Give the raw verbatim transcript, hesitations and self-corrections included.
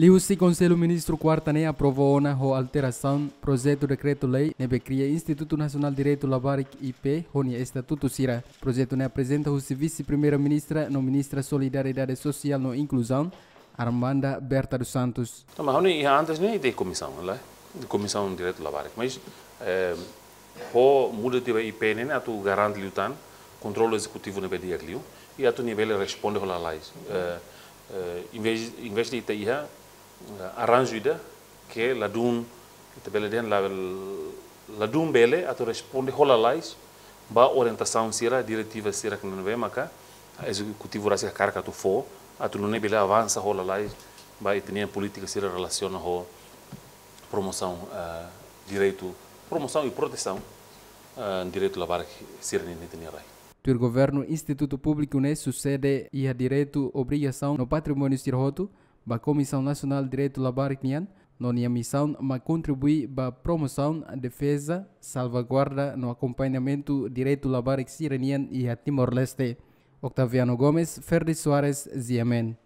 Liuhusi Konsellu Ministru kuarta ne'e aprova ona ho alterasaun projetu dekretu-lei ne'ebé kria Institutu Nasionál Direitu Labarik, I P, ho nia estatutu sira. Projetu ne'e aprezenta husi Vise-Primeira-Ministra no Ministra Solidariedade Sosiál no Inkluzaun, Armanda Berta dos Santos. Tanba ha'u-nia iha antes ne'e ita komisaun, la? Komisaun Direitu Labarik. Mas, eh, ho muda tiha ba I P ne'e, atu garante liután kontrolu ezekutivu ne'ebé di'ak liu, i atu nia bele responde ho lalais. Eh, eh, em vez, em vez de ita iha, eh, arranju ida ke ladún, ita bele dehan la, ladún bele atu responde ho lalais ba orientasaun sira, diretiva sira ne'ebé maka ezekutivu rasik hakarak atu fó, atu nune'e bele avansa ho lalais ba ita-nia polítika sira relasiona ho promosaun, eh, direitu, promosaun i protesaun, eh, direitu labarik sira-nian iha ita-nia rai. Tuir governu, institutu públiku ne'e susede iha direitu, obrigasaun no patrimóniu sira hotu ba Komisaun Nasionál Direitu Labarik nian, no nia misaun mak kontribui ba promosaun, defeza, salvaguarda no akompañamentu direitu labarik sira-nian iha Timor-Leste. Octaviano Gomes, Ferdi Soares, G M N.